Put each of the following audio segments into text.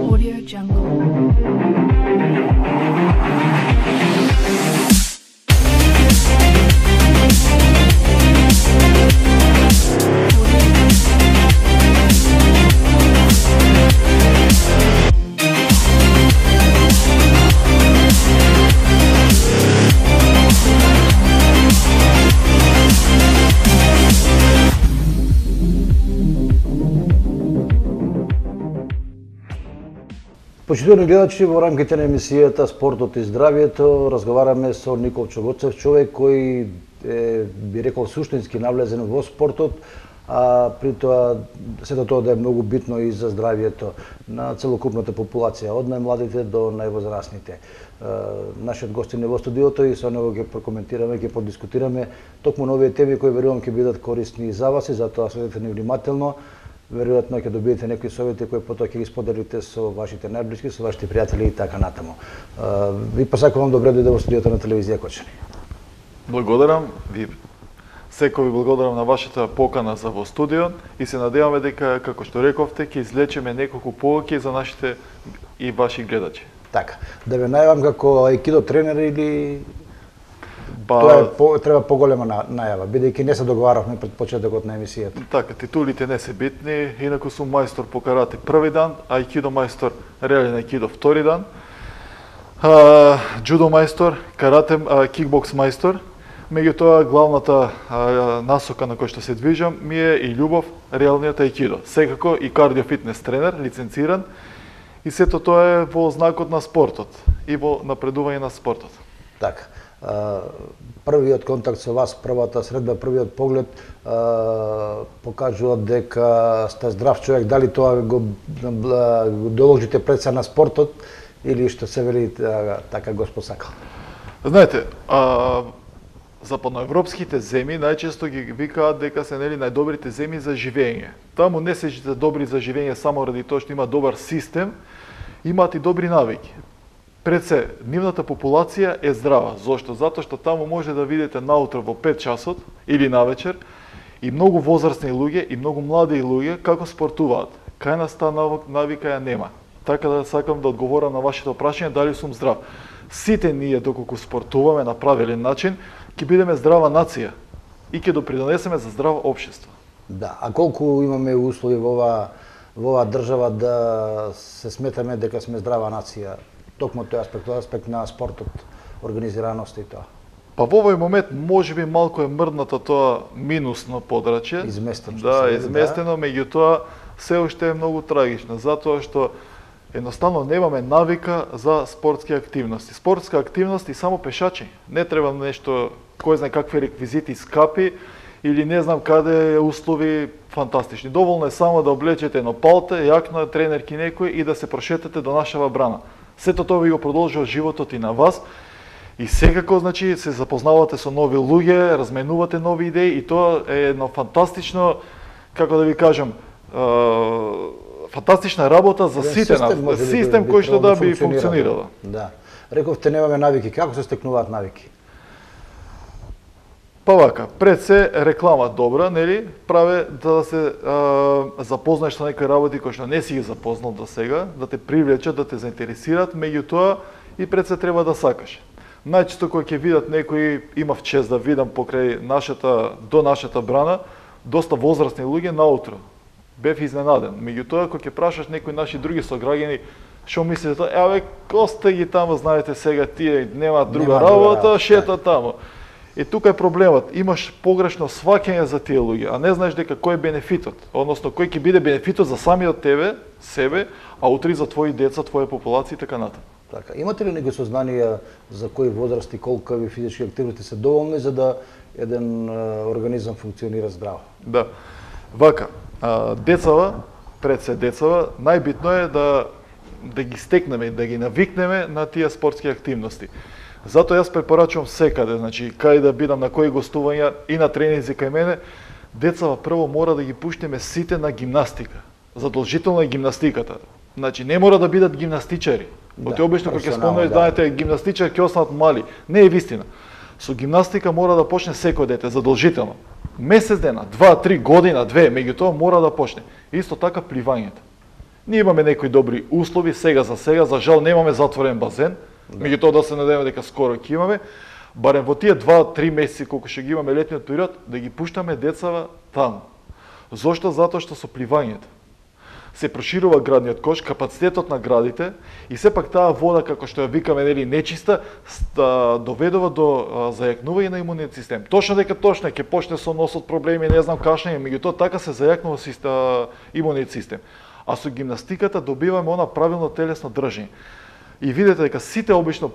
Audio Jungle. Почитувани гледачи, во рамките на емисијата Спортот и здравјето разговараме со Никол Чогоцев, човек кој би рекол суштински навлезен во спортот, а при тоа сето тоа да е многу битно и за здравјето на целокупната популација, од најмладите до највозрасните. Нашиот гостин е во студиото и со него ќе прокоментираме, ќе подискутираме токму на овие теми кои верувам ќе бидат корисни за вас и затоа следете ни внимателно. Веројатно ќе добиете некои совети кои потоа ќе ги споделите со вашите најблиски, со вашите пријатели и така натаму. Ви посакувам добре дојде во студиото на телевизија Кочани. Благодарам ви. Секој ви благодарам на вашата покана за во студио и се надеваме дека, како што рековте, ќе излечеме неколку полуки за нашите и ваши гледачи. Така, да ве најавам како аикидо тренер или тоа треба поголема најава, бидејќи не се договаравме пред почетокот на емисијата. Така, титулите не се битни, инаку сум мајстор по карате први дан, аикидо мајстор, реален аикидо втори дан, џудо мајстор, карате, кикбокс мајстор. Меѓутоа, главната насока на која што се движам ми е и љубов, реалниот аикидо. Секако и кардиофитнес тренер, лиценциран, и сето тоа е во знакот на спортот и во напредување на спортот. Така. Првиот контакт со вас, првата средба, првиот поглед покажува дека сте здрав човек. Дали тоа го доложите пред се на спортот или што се вели така Господ сакал? Знаете, западноевропските земји најчесто ги викаат дека се најдобрите земји за живење. Таму не се добри за живење само ради тоа што има добар систем, имаат и добри навики. Пред се, нивната популација е здрава. Зошто? Затоа што таму може да видите наутро во 5 часот или навечер и многу возрастни луѓе и многу млади луѓе како спортуваат. Кај нас таа навика ја нема. Така да сакам да одговорам на вашето прашање дали сум здрав. Сите ние доколку спортуваме на правилен начин, ќе бидеме здрава нација и ќе допринесеме за здраво општество. Да, а колку имаме услови во оваа држава да се сметаме дека сме здрава нација? Токму тој аспект на спортот, организираност и тоа. Па во овој момент можеби малку е мрднато тоа минусно подрачје. Изместено. Да, изместено, меѓутоа се уште е многу трагично, затоа што едноставно немаме навика за спортски активности. Спортска активност и само пешачи. Не треба нешто, кој знае какви реквизити скапи или не знам каде услови фантастични. Доволно е само да облечете едно палте, јакно тренерки некој и да се прошетате до нашава брана. Сето тоа ви го продолжува животот и на вас и секако значи се запознавате со нови луѓе, разменувате нови идеи и тоа е едно фантастично, како да ви кажам, фантастична работа за сите нас, систем кој што да би функционирала. Да. Рековте немаме навики, како се стекнуваат навики? Па вака, пред се реклама добра, нели, праве да се запознаеш со некои работи кои што не си ги запознал до сега, да те привлечат, да те заинтересираат, меѓутоа и пред се треба да сакаш. Најчесто кога ќе видат некои, имав чест да видам покрај до нашата брана, доста возрастни луѓе наутро. Бев изненаден. Меѓутоа кога ќе прашаш некои наши други сограѓани, што мислите, еве, косте ги таму, знаете сега тие немаат друга работа, шета таму. И тука е проблемот. Имаш погрешно сваќање за тие луѓе, а не знаеш дека кој е бенефитот, односно кој ќе биде бенефитот за самиот себе, а утре за твои деца, твоја популација и така натаму. Така, имате ли некои сознанија за кои возрасти, колкави физички активности се доволни за да еден организам функционира здраво? Да. Вака, децава, пред се децава, најбитно е да ги стекнеме, да ги навикнеме на тие спортски активности. Затоа јас препорачувам секаде, значи кај да бидам, на кои гостувања и на тренинзи кај мене, децава прво мора да ги пуштиме сите на гимнастика. Задолжително е гимнастиката. Значи не мора да бидат гимнастичари. Оти обично кога ќе спомнеш, знаете, гимнастичари ќе останат мали. Не е вистина. Со гимнастика мора да почне секој дете, задолжително. месец дена, 2-3 година, 2, меѓутоа мора да почне. Исто така пливањето. Ние имаме некои добри услови сега, за жал немаме затворен базен, меѓутоа да се надеваме дека скоро ќе имаме, барем во тие 2-3 месеци колку ќе ги имаме летниот период, да ги пуштаме децава таму. Зошто? Затоа што со пливањето се проширува градниот кош, капацитетот на градите и сепак таа вода, како што ја викаме, нели, нечиста, доведува до зајакнување на имуниот систем. Точно дека ќе почне со носот проблеми, не знам кашење, меѓутоа така се зајакнува имуниот систем. А со гимнастиката добиваме она правилно телесно држење. И видите дека сите обично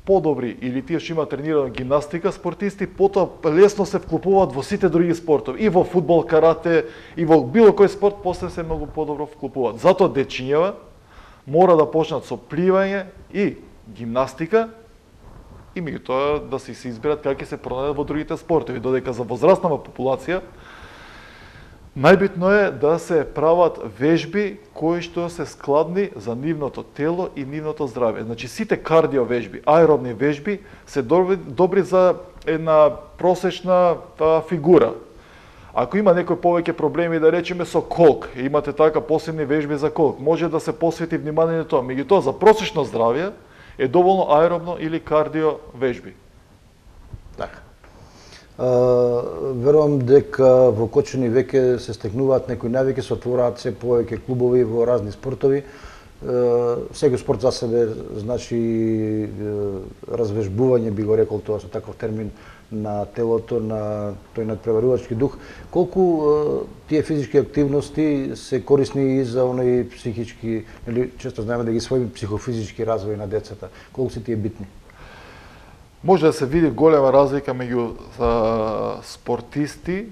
подобри или тие што имаат тренирана гимнастика спортисти, потоа лесно се вклопуваат во сите други спортови, и во фудбал, карате, и во било кој спорт, после се многу подобро вклопуваат. Затоа дечињава мора да почнат со пливање и гимнастика, и меѓутоа да се изберат како ќе се пронајдат во другите спортови, додека за возрастнава популација најбитно е да се прават вежби кои што се складни за нивното тело и нивното здравје. Значи сите кардио вежби, аеробни вежби се добри за една просечна фигура. Ако има некој повеќе проблеми, да речеме со колк, имате така посебни вежби за колк, може да се посвети внимание на тоа. Меѓутоа за просечно здравје е доволно аеробно или кардио вежби. Така. Верувам дека во Кочани веќе се стекнуваат некои навики, се отвораат се повеќе клубови во разни спортови. Секој спорт за себе значи развежбување, би го рекол тоа со таков термин, на телото, на тој надпреварувачки дух. Колку тие физички активности се корисни и за оној психички, или често знаеме да ги своји психофизички развој на децата. Колку се тие битни? Може да се види голема разлика меѓу спортисти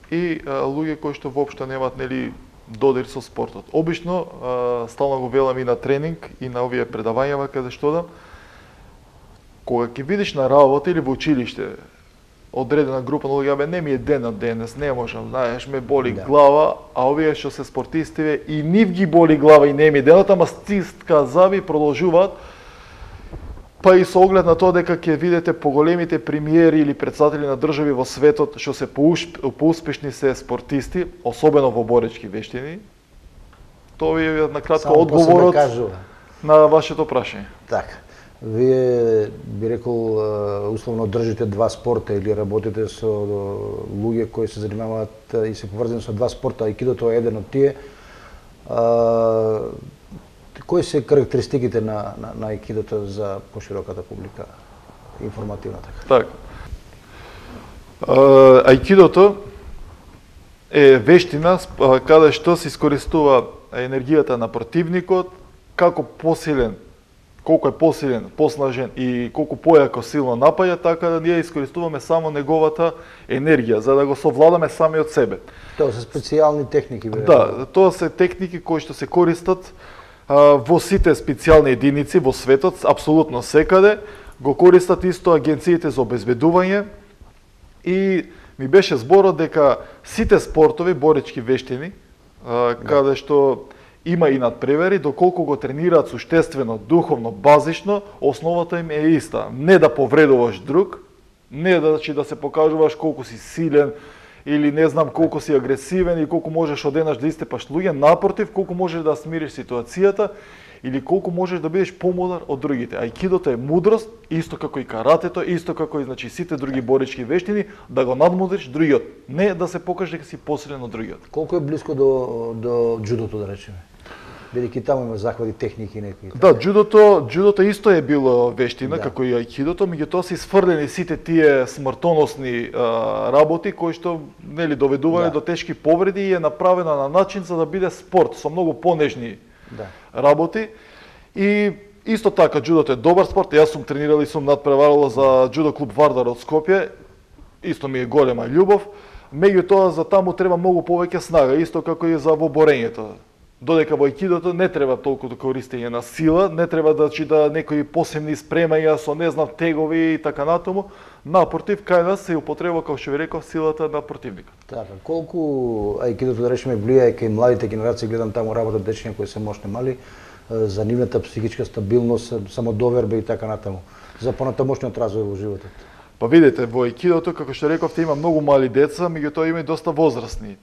и луѓе кои што воопшто немаат, нели, додир со спортот. Обично стално го велам и на тренинг и на овие предавањава каде што дам, кога ќе видиш на работа или во училиште одредена група на луѓе, не ми е денот денес, не можам, знаеш, ме боли глава, а овие што се спортисти и нив ги боли глава и не ми е денот, ама стиска заби продолжуваат. Па и со оглед на тоа дека ќе видите поголемите премиери или претседатели на држави во светот што се поуспешни се спортисти, особено во боречки вештини, тоа ви е на кратко одговорот на вашето прашање. Така. Вие би рекол условно држите два спорта или работите со луѓе кои се занимаваат и се поврзани со два спорта, аикидото е еден од тие. Кои се карактеристиките на аикидото за пошироката публика, информативната? Така. Аикидото е вештина каде што се искористува енергијата на противникот, како посилен, колку е посилен, поснажен и колку појако силно напаѓа, така да ние искористуваме само неговата енергија за да го совладаме сами од себе. Тоа се специјални техники, бе? Да, тоа се техники кои што се користат во сите специјални единици во светот, апсолутно секаде, го користат исто агенциите за обезбедување и ми беше зборот дека сите спортови, боречки вештини, каде што има и надпревари, доколку го тренираат суштествено, духовно, базично, основата им е иста. Не да повредуваш друг, не да се покажуваш колку си силен, или не знам колку си агресивен и колку можеш одеднаш да истепаш луѓе, напротив, колку можеш да смириш ситуацијата или колку можеш да бидеш помудар од другите. Аикидото е мудрост, исто како и каратето, исто како и сите други боречки вештини, да го надмудриш другиот, не да се покажеш дека си посилен од другиот. Колку е близко до џудото, да речеме? Бидејќи таму има захвати, техники некои. Да, џудото исто е било вештина, како и аикидото, меѓутоа се исфрлени сите тие смртоносни работи кои што нели доведуваат до тешки повреди и е направена на начин за да биде спорт со многу понежни работи. И исто така џудото е добар спорт. Јас сум тренирал и сум надпреварувал за џудо клуб Вардар од Скопје. Исто ми е голема љубов. Меѓутоа за таму треба многу повеќе снага, исто како и за во борењето. Додека во аикидото не треба толку до користење на сила, не треба да некои посебни спремања со не знам тегови и така натаму. Напротив, кај нас се употреба, како што ви реков, силата на противникот. Така, колку аикидото, да речеме, влијае кај младите генерации, гледам таму работат дечиња кои се мощни мали, за нивната психичка стабилност, самодоверба и така натаму, за понатамошниот развој во животот? Па видите, во аикидото, како што рековте, има многу мали деца, меѓутоа има и доста возрастни.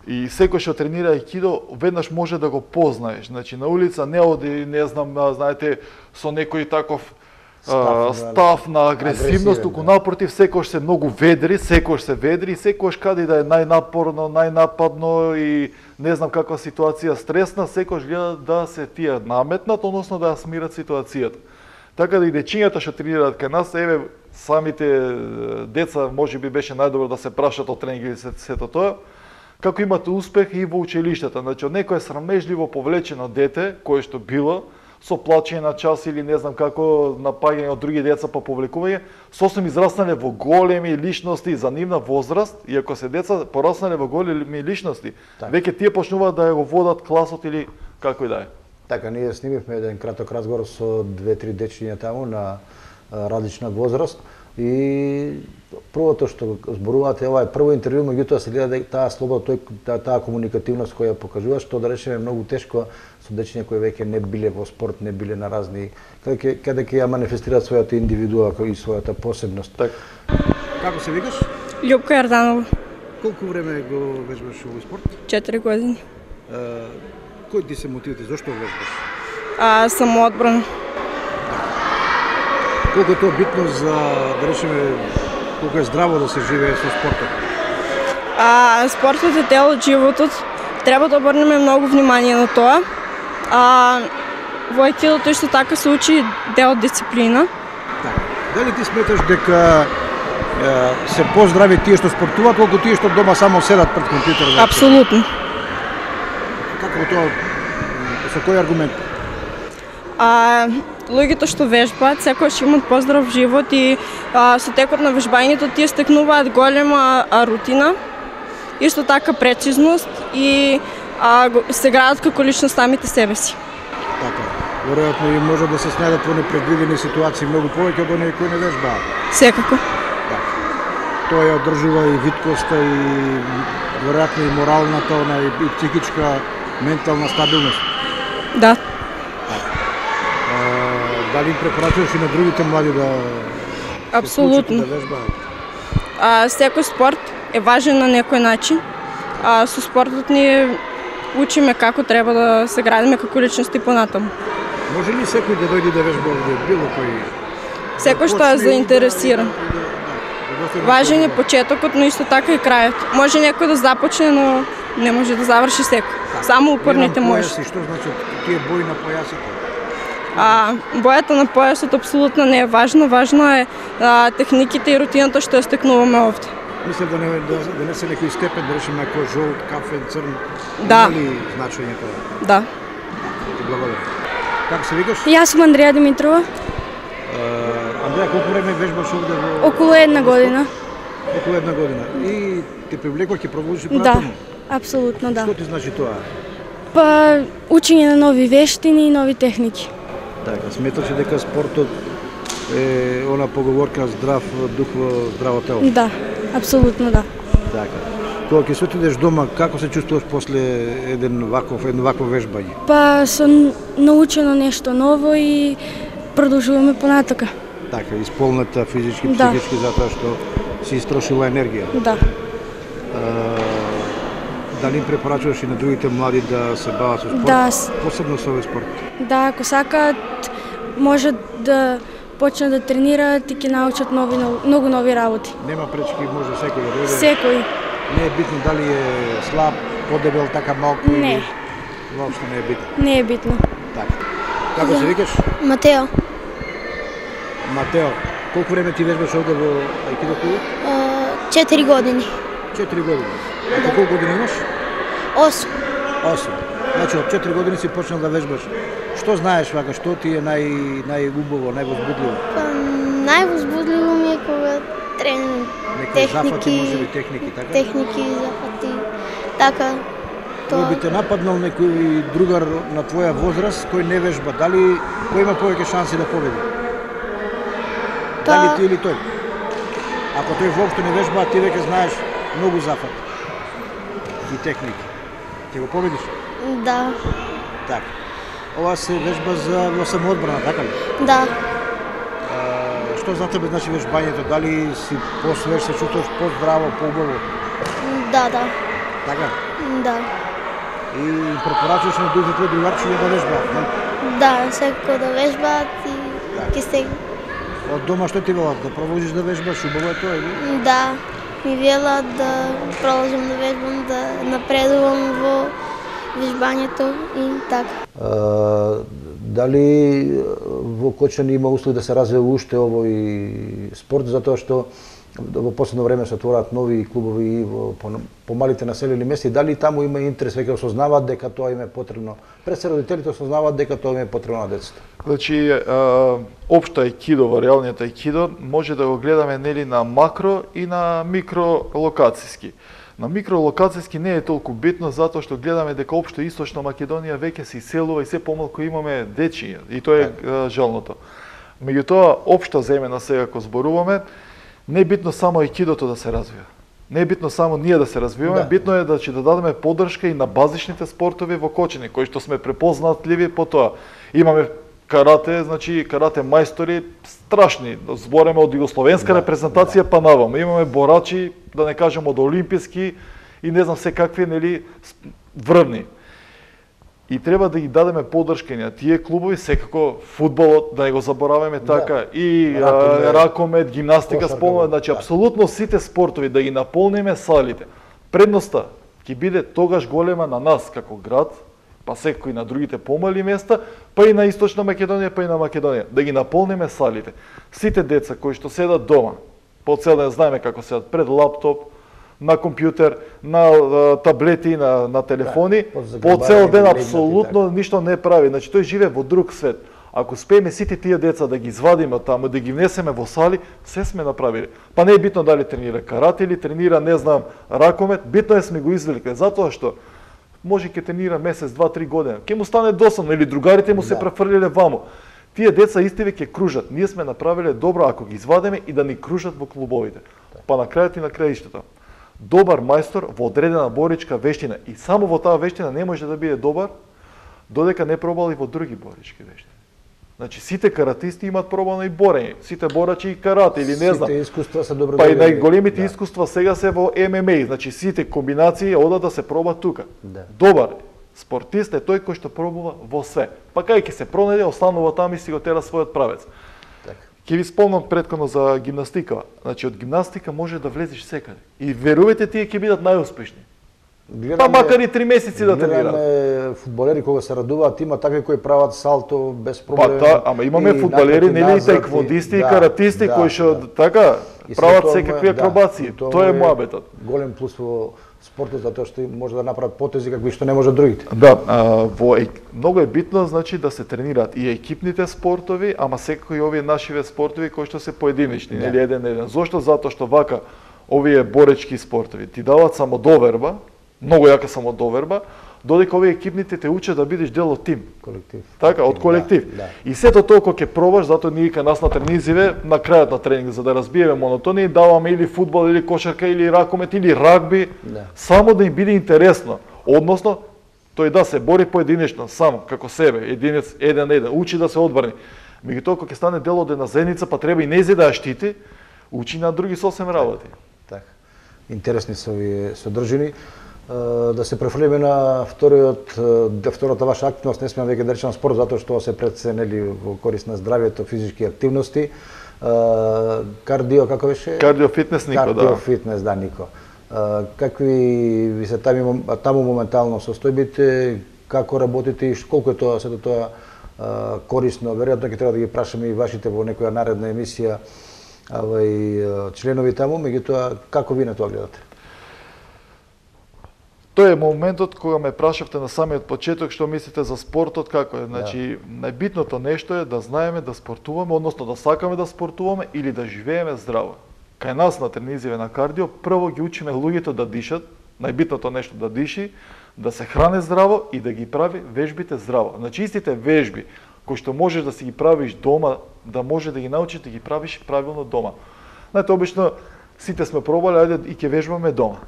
И секој што тренира аикидо, веднаш може да го познаеш. Значи, на улица не оди, не знам, знаете, со некој таков став на агресивност, туку напротив, секој се многу ведри, и секој каде да е најнапорно, најнападно и не знам каква ситуација стресна, секој гледа да се тие наметнат, односно да ја смират ситуацијата. Така да и дечињата што тренираат кај нас, еве, самите деца можеби беше најдобро да се прашат од тренинг или сето тоа, како имате успех и во училиштата. Значи, од некое срамежливо повлечено дете, кое што било, со плачење на час или не знам како напаѓање од други деца по повлекување, сосем израснале во големи личности за нивна возраст, и ако се деца пораснале во големи личности, веќе тие почнуваат да го водат класот или како и да е. Така, ние снимивме еден краток разговор со 2-3 дечиња таму на различна возраст и првото што зборувате, ова е прво интервју, меѓутоа се гледа таа слобода, таа комуникативност која покажува, што да речеме многу тешко со дечиња кои веќе не биле во спорт, не биле на разни, каде ќе ја манифестираат својата индивидуа и својата посебност. Так. Како се викаш? Љупка Јарданова. Колку време го вежбаш овој спорт? 4 години. Кои ти се мотивите? Зошто вежбаш? Самоодбрана. Колку е тоа битно за, да речеме, колку е здраво да се живее со спортот? Спортот е дел од животот. Треба да обрнеме многу внимание на тоа. Во аикидото исто така се учи дел од дисциплина. Така. Дали ти сметаш дека се поздрави тие што спортуваат, колку тие што дома само седат пред компјутерот? Апсолутно. Како тоа? Со кој аргумент? Луѓето што вежбаат секогаш имаат поздрав живот и со текот на вежбањето тие стекнуваат голема рутина, исто така прецизност и се градат како личност самите себе си. Така. Веројатно и може да се снајдат во непредвидени ситуации многу повеќе од оние кои не вежбаат. Секако. Така. Тоа ја одржува и виткоста и веројатно и моралната, и психичка, ментална стабилност. Да. Дали им препорачуваш и на другите млади да Апсолутно. да вежбаат? Секој спорт е важен на некој начин. Со спортот ние учиме како треба да се градиме како личности понатаму. Може ли секој да дојде да вежба овде, било кој? Секој што е заинтересиран. Важен е почетокот, но исто така и крајот. Може некој да започне, но не може да заврши секој. Само упорните може. Што значи тие бои на појасите? Бојата на појасот апсолутно не е важно. Важно е техниките и рутината што ја стекнуваме овде. Мислам да не се некој степен, да речеме ако жолт, кафен, црн. Да. Има ли значење тоа? Да. Ти благодарам. Како се викаш? Јас сум Андреја Димитрова. Андреја, колку време вежбаш овде во? Околу една година. Околу една година. И те привлекува, ќе продолжиш Да, понатаму? апсолутно да. Што ти значи тоа? Па учење на нови вештини и нови техники. Така, сметаш ли дека спортот е она поговорка здрав дух во здраво тело? Да, апсолутно да. Така. Кога ќе се отидеш дома, како се чувствуваш после едно вакво вежбање? Па сум научено нешто ново и продолжуваме понатака. Така, исполната физички, Да. психички, затоа што си истрошила енергија. Да. Дали им препорачуваш и на другите млади да се бават со спорт? Да. Посебно со овој спорт. Да, ако сакаат, може да почнат да тренираат и ќе научат многу нови работи. Нема пречки, може секој да дојде. Секој. Не е битно дали е слаб, подебел, така малку Не. или воопшто не е битно. Не е битно. Така. Како се викаш? Матео, Матео. Колку време ти вежбаш овде во аикидо клубот? 4 години. 4 години. А колку години имаш? 8. 8. Значи од 4 години си почнал да вежбаш. Што знаеш вака, што ти е најубаво, највозбудливо? Па, највозбудливо ми е кога тренирам Некои зафати, можеби техники, така? техники, зафати, така. Тоа. Кој би те нападнал некој другар на твоја возраст кој не вежба, дали кој има повеќе шанси да победи? Па- Дали ти или тој? Ако тој воопшто не вежба, ти веќе знаеш многу зафат и техники. Ќе го победиш? Да, Така. Ова се вежба за во самоодбрана, така ли? да. Што Што за тебе значи вежбањето? Дали си посвеж, се чувствуваш поздраво, поубаво? Да. Така? Да. И препорачуваш на другите другарчи да вежбаат, не? Да, секако да вежбаат и ќе се... Од дома што ти велат? Да продолжиш да вежбаш? Убаво е тоа, или? Да, ми велат да продолжам да вежбам, да напредувам во вежбањето и така. Дали во Кочани има услови да се развива уште овој спорт, затоа што во последно време се отвораат нови клубови и во помалите населени места, дали таму има интерес, веќе осознаваат дека тоа им е потребно? Пред се родителите осознаваат дека тоа им е потребно на децата. Значи, општо аикидо, во реалниот аикидо, може да го гледаме нели на макро и на микро локацијски. На микролокацијски не е толку битно затоа што гледаме дека општо Источна Македонија веќе се иселува и се помалку имаме дечи и тоа е жалното. Меѓутоа, општо земена сега ако зборуваме, не е битно само аикидото да се развива. Не е битно само ние да се развиваме, битно е да дадеме поддршка и на базичните спортови во Кочани, кои што сме препознатливи по тоа. Имаме карате, значи карате мајстори страшни, збореме од југословенска репрезентација па наваму. Имаме борачи, да не кажем од олимписки и не знам се какви, нели, врвни. И треба да ги дадеме поддршка на тие клубови, секако фудбалот, да не го забораваме така, и ракомет, гимнастика, спомнуваме, значи апсолутно сите спортови да ги наполниме салите. Предноста ќе биде тогаш голема на нас како град, па секој на другите помали места, па и на Источна Македонија, па и на Македонија, да ги наполниме салите. Сите деца кои што седат дома, по цел ден знаеме како седат пред лаптоп, на компјутер, на таблети, на телефони, по цел ден апсолутно ништо не прави. Значи тој живее во друг свет. Ако успееме сите тие деца да ги извадиме од таму, да ги внесеме во сали, се сме направиле. Па не е битно дали тренира карате или тренира, не знам, ракомет, битно е сме го извлекле, затоа што може ќе тренира месец, 2-3 години. Ќе му стане досадно или другарите му се префрлиле ваму. Тие деца истиве ќе кружат. Ние сме направиле добро ако ги извадиме и да ни кружат во клубовите. Па на крајот и на краиштето. Добар мајстор во одредена боричка вештина и само во таа вештина не може да биде добар додека не пробал и во други борички вештини. Значи сите каратисти имаат пробано и борење, сите борачи и карате или не знам. Сите искуства се добро. Па и најголемите искуства сега се во ММА, значи сите комбинации одат да се пробат тука. Добар спортист е тој кој што пробува во све. Па кај ќе се пронајде, останува таму и си го тера својот правец. Ќе ви спомнам преткано за гимнастика. Значи од гимнастика може да влезеш секаде. И верувате тие ќе бидат најуспешни. Па макар и 3 месеци да тренираат. Гледаме фудбалери кога се радуваат, има такви кои прават салто без проблем. Па ама имаме фудбалери, нели и таеквондисти и каратисти кои што така прават секакви акробации. Тоа е муабетот. Голем плюс во спортот затоа што може да направат потези какви што не можат другите. Да, многу е битно значи да се тренираат и екипните спортови, ама секако и овие нашиве спортови кои што се поединечни, нели еден. Зошто? Затоа што вака овие боречки спортови ти даваат самодоверба, многу јака самодоверба, додека овие екипните те учат да бидеш дел од тим. Колектив. Така, од колектив. И сето толку ќе пробаш, затоа ние кај нас на тренизиве, на крајот на тренинг, за да разбиеме монотонија, даваме или фудбал, или кошарка, или ракомет, или рагби, само да им биде интересно. Односно, тој да се бори поединечно, сам, како себе, единец, еден, учи да се одбрани. Меѓутоа, кога ќе стане дел од една заедница, па треба и нејзе да ја штити, учи на други сосем работи. Така. Интересни се овие содржини. Да се префрлиме на втората ваша активност, не смеам веќе да речам спорт, затоа што се преценели во корист на здравјето, физички активности. Кардио, како беше? Кардио фитнес, Нико, да. Кардио фитнес, да, Нико. Какви ви се таму моментално состојбите, како работите и колку е тоа, сето тоа корисно? Веројатно ќе треба да ги прашаме и вашите во некоја наредна емисија членови таму, меѓутоа како ви на тоа гледате? Тоа е моментот кога ме прашавте на самиот почеток што мислите за спортот, како е. Значи, најбитното нешто е да знаеме да спортуваме, односно да сакаме да спортуваме или да живееме здраво. Кај нас на тренизиве на кардио, прво ги учиме луѓето да дишат, најбитното нешто да диши, да се хране здраво и да ги прави вежбите здраво. Значи, истите вежби кои што можеш да си ги правиш дома, да може да ги научиш да ги правиш правилно дома. Знаете, обично сите сме пробале, ајде и ќе вежбаме дома.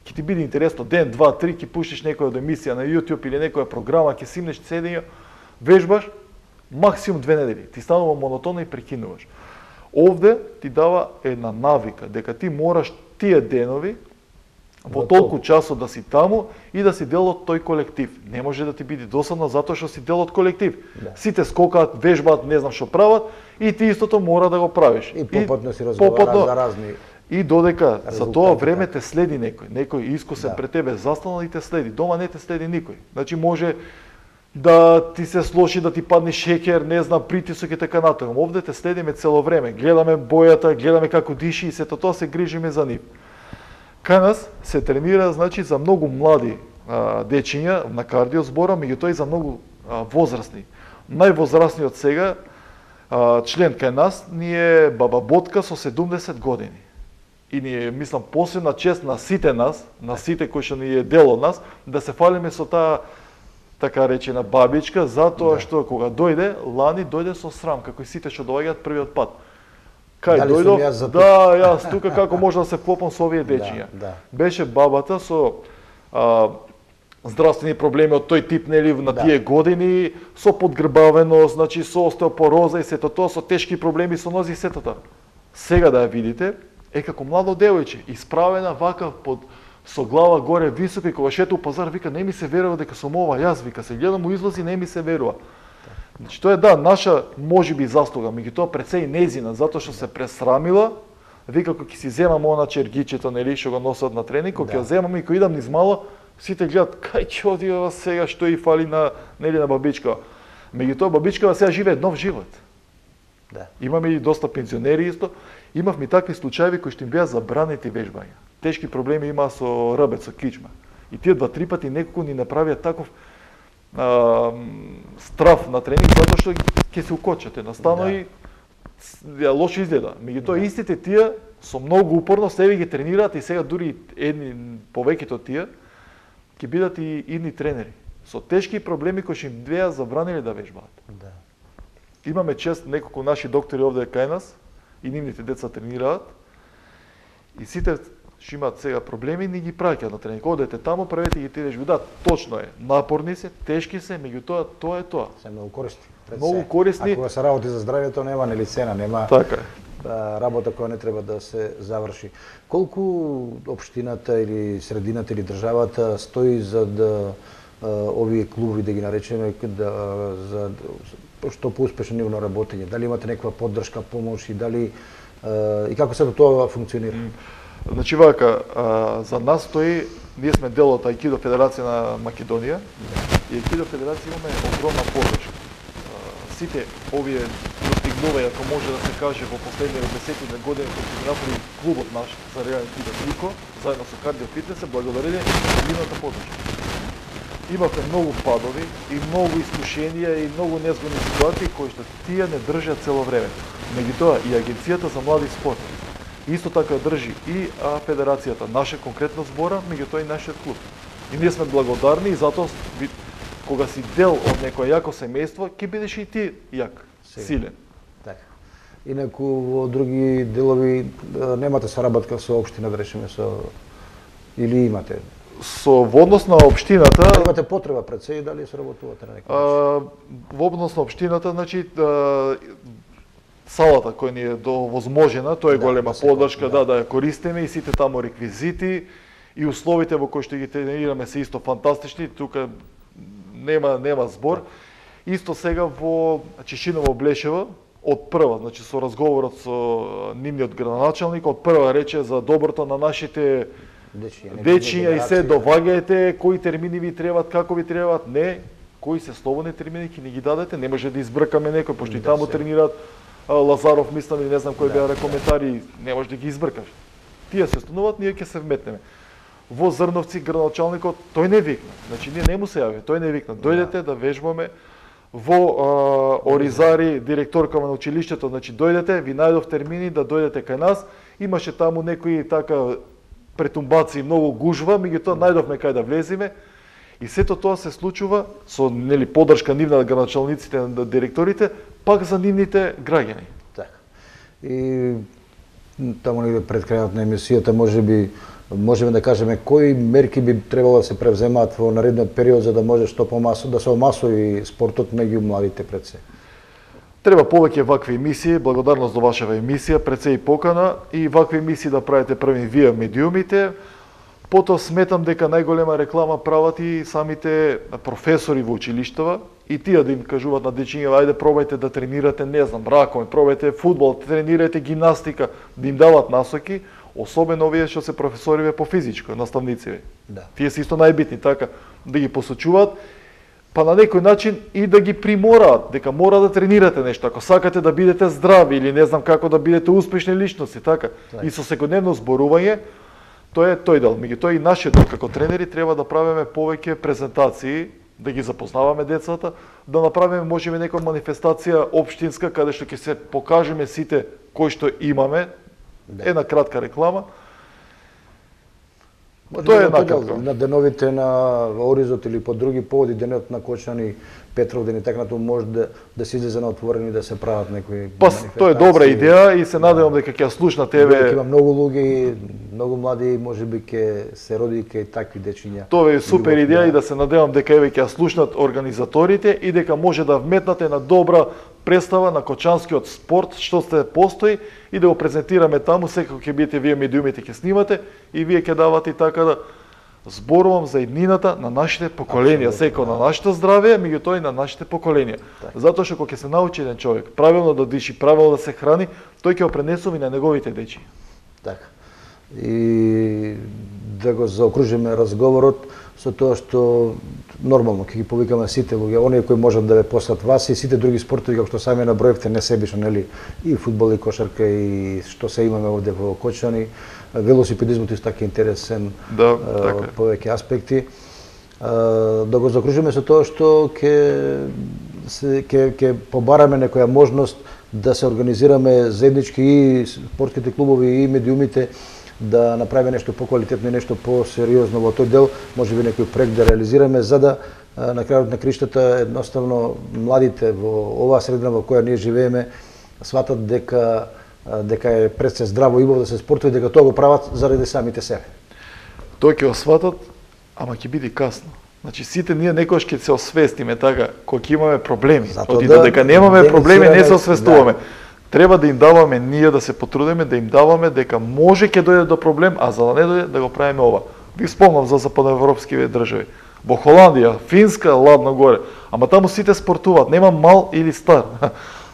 Ќе ти биде интересно, ден, 2, 3, ќе пуштиш некоја емисија на YouTube или некоја програма, ќе симнеш седење, вежбаш, максимум 2 недели. Ти станува монотонно и прекинуваш. Овде ти дава една навика, дека ти мораш тие денови во толку часот да си таму и да си дел од тој колектив. Не може да ти биде досадно затоа што си дел од колектив. Да. Сите скокаат, вежбаат, не знам што прават и ти истото мора да го правиш. И попатно си разговараш за разни. И додека за тоа време те следи некој искусен пред тебе застанал и те следи. Дома не те следи никој. Значи може да ти се слоши, да ти падне шеќер, не знам, притисок и така натаму. Овде те следиме цело време. Гледаме бојата, гледаме како диши и сето тоа се грижиме за нив. Кај нас се тренира, значи, за многу млади дечиња на кардио збора, меѓутоа и за многу возрастни. Највозрастниот сега член кај нас ни е баба Ботка со 70 години. И ни е, мислам, посебна чест на сите нас, на сите кои што ни е дел од нас, да се фалиме со таа така речена бабичка, затоа што кога дојде, лани дојде со срам, како и сите што доаѓаат првиот пат. Кај дојдов? Да, јас тука како може да се вклопам со овие дечиња. Беше бабата со здравствени проблеми од тој тип, нели, на тие години, со подгрбавеност, значи со остеопороза и сето тоа, со тешки проблеми со нози и сето тоа. Сега да ја видите, е како младо девојче, исправена вака со глава горе висока и кога шета у пазар вика не ми се верува дека сум ова јас, вика се гледам у излази не ми се верува. Значи тоа е наша можеби заслуга, меѓутоа пред се и незина, затоа што се пресрамила, вика кога ќе си земам она чергичето, нели, што го носат на тренинг, кога ќе земам и кога идам низ мало, сите гледат кај ќе оди ова сега што и фали на нели на бабичка. Меѓутоа бабичка сега живее нов живот. Да. Имаме и доста пензионери исто. Имавме такви случаи кои што им беа забранети вежбања. Тешки проблеми има со рабец, со кичма. И тие 2-3 пати некако ни направија таков страф на тренинг, затоа што ќе се укочате. Настано и лошо изгледа. Меѓутоа истите тие со многу упорно себе ги тренираат и сега дури едни повеќето тие ќе бидат и идни тренери. Со тешки проблеми кои што им беа забранили да вежбаат. Да. Имаме чест неколку наши доктори овде кај нас и нивните деца тренираат. И сите што имаат сега проблеми, ни ги праќаат на тренинг. Одете таму, правете ги тие вежби. Да, точно е. Напорни се, тешки се, меѓутоа тоа е тоа. Се многу користни. Многу користни. Ако се работи за здравјето, нема нели цена, нема така работа која не треба да се заврши. Колку општината или средината или државата стои за да овие клубови да ги наречеме за што поуспешно нивно работење? Дали имате некаква поддршка, помош и дали и како се тоа функционира? Значи вака, за нас стои, ние сме дел од Аикидо Федерација на Македонија и Аикидо Федерација имаме огромна поддршка. Сите овие достигнувања, ако може да се каже, во последните 10 години кои ќе направи клубот наш за реален Кидо Трико, заедно со Кардио Фитнес, благодарение на нивната поддршка. Имавме многу падови и многу искушенија и многу незгодни ситуации кои што тие не држат цело време. Меѓутоа и Агенцијата за млади спорт исто така држи и федерацијата, наша конкретно збора, меѓутоа и нашиот клуб. И ние сме благодарни и затоа кога си дел од некој јако семејство, ќе бидеш и ти јак, силен. Така. Инаку во други делови немате соработка со општина, да речеме, или имате? Во однос на општината... Имате потреба пред се и дали соработувате на некој начин? Во однос на општината, значи, салата која ни е довозможена, тоа е голема поддршка, да ја користиме и сите таму реквизити и условите во кои што ги тренираме се исто фантастични, тука нема збор. Исто сега во Чешиново Блешево, од прва, значи со разговорот со нивниот градоначалник, од прва рече за доброто на нашите дечиња и се доваѓајте, кои термини ви требаат, како ви требаат, не, кои се слободни термини ќе ни ги дадете, не може да избркаме некој, пошто и таму тренираат Лазаров, мислам, или не знам кој беа коментари, не може да ги избркаш. Тие се стануваат, ние ќе се вметнеме. Во Зрновци градоначалникот, тој не викна. Значи ние не му се јави, тој не викна. Дојдете да вежбаме. Во Оризари, директорка на училиштето, значи дојдете, ви најдов термини да дојдете кај нас. Имаше таму некои така претумбации, многу гужва, меѓутоа најдовме кај да влеземе. И сето тоа се случува со нели поддршка нивна на градоначалниците, на директорите, пак за нивните граѓани. Така. И таму негде пред крајот на емисијата можеме да кажеме кои мерки би требало да се превземаат во наредниот период за да може што помасо да се омасови спортот меѓу младите пред се. Треба повеќе вакви емисии, благодарност до вашава емисија, пред се и покана, и вакви емисии да правите први вие медиумите. Потоа сметам дека најголема реклама прават и самите професори во училиштава, и тие да им кажуваат на дечиња, ајде пробајте да тренирате, не знам, ракоме, пробајте фудбал, тренирајте гимнастика, да им дават насоки, особено овие што се професориве по физичко, наставници. Да. Тие се исто најбитни, така, да ги посочуваат, па на некој начин и да ги примораат, дека мора да тренирате нешто, ако сакате да бидете здрави или не знам како да бидете успешни личности, така. И со секојдневно зборување, тоа е тој дел. Меѓутоа и нашиот дел како тренери треба да правиме повеќе презентации, да ги запознаваме децата, да направиме можеби некоја манифестација општинска каде што ќе се покажеме сите кои што имаме, една кратка реклама. Тоа е накратко. На деновите на Оризот или по други поводи, денот на Кочани, Петров ден и така натаму, може да се излезе на отворени да се прават некои манифестации. Тоа е добра идеја и се надевам дека ќе ја слушна тебе. Има многу луѓе, многу млади, можеби ќе се роди кај такви дечиња. Тоа е супер идеја и да се надевам дека еве ќе ја слушнат организаторите и дека може да вметнате на добра представа на кочанскиот спорт што се постои и да го презентираме таму, секако ќе бидете вие медиумите ќе снимате и вие ќе давате и така да зборувам за иднината на нашите поколенија, секој на нашето здравје, меѓутоа и на нашите поколенија. Затоа што кога ќе се научи еден човек правилно да диши, правилно да се храни, тој ќе го пренесува и на неговите дечи. Така. И да го заокружиме разговорот со тоа што нормално ќе ги повикаме сите луѓе, оние кои можат да ве послат вас и сите други спортови како што сами наброевте несебично, нели, и фудбал и кошарка и што се имаме овде во Кочани. Велосипедизмот исто така интересен, повеќе аспекти. Да го закружиме со тоа што ќе побараме некоја можност да се организираме заеднички и спортските клубови и медиумите, да направиме нешто поквалитетно и нешто посериозно во тој дел, можеби некој проект да реализираме, за да на крајот на криштата едноставно младите во оваа средина во која ние живееме сватат дека е пред се здраво и да се спортува, дека тоа го прават заради самите себе. Тоа ќе го сватат, ама ќе биде касно. Значи сите ние некојаш ќе се освестиме така, кога ќе имаме проблеми. Оти додека немаме проблеми не се освестуваме. Треба да им даваме ние да се потрудиме, да им даваме дека може ќе дојде до проблем, а за да не дојде да го правиме ова. Ви спомнам за западноевропските држави. Во Холандија, Финска, ладно горе, ама таму сите спортуваат, нема мал или стар.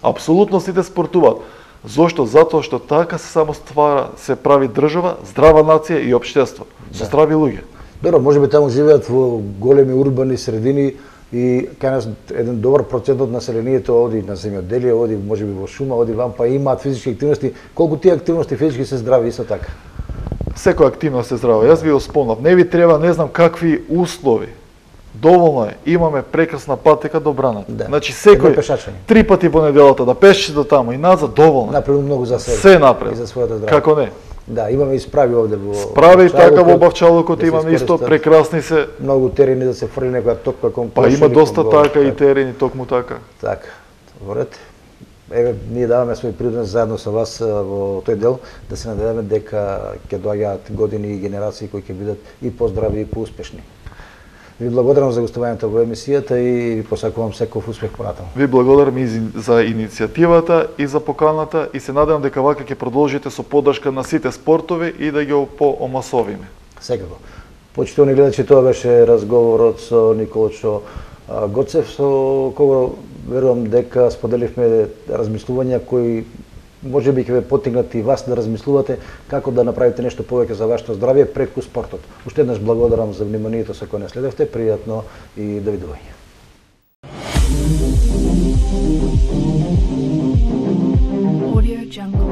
Апсолутно сите спортуваат. Зошто? Затоа што така се само ствара, се прави држава, здрава нација и општество, со здрави луѓе. Добро, можеби таму живеат во големи урбани средини и кај нас еден добар процент од населението оди на земјоделие, оди можеби во шума, оди вам, па имаат физички активности. Колку тие активности физички се здрави исто така? Секоја активност е здрава. Јас ви го спомнав, не ви треба не знам какви услови. Доволно е, имаме прекрасна патека до браната. Да. Значи секој 3 пати во неделата да пешеше до таму и назад доволно. Направи многу за себе. Се направи. И за своето здравје. Како не? Да, имаме и справи овде во справи така во Бавчалокот, имаме исто прекрасни се многу терени да се фрли некоја токма кон. Па има доста така и терени токму така. Така. Добрете. Еве ние даваме свој принос заедно со вас во тој дел, да се надеваме дека ќе доаѓаат години и генерации кои ќе бидат и поздрави и поуспешни. Ви благодарам за гостувањето во емисијата и ви посакувам секој успех понатаму. Ви благодарам и за иницијативата и за поканата и се надевам дека вака ќе продолжите со поддршка на сите спортови и да ги поомасовиме. Секако. Почитувани гледачи, тоа беше разговорот со Николчо Гоцев, со кого верувам дека споделивме размислувања кои можеби ќе ве поттикнат и вас да размислувате како да направите нешто повеќе за вашето здравје преку спортот. Уште еднаш благодарам за вниманието со кое не следевте, пријатно и довидување. Audio Jungle.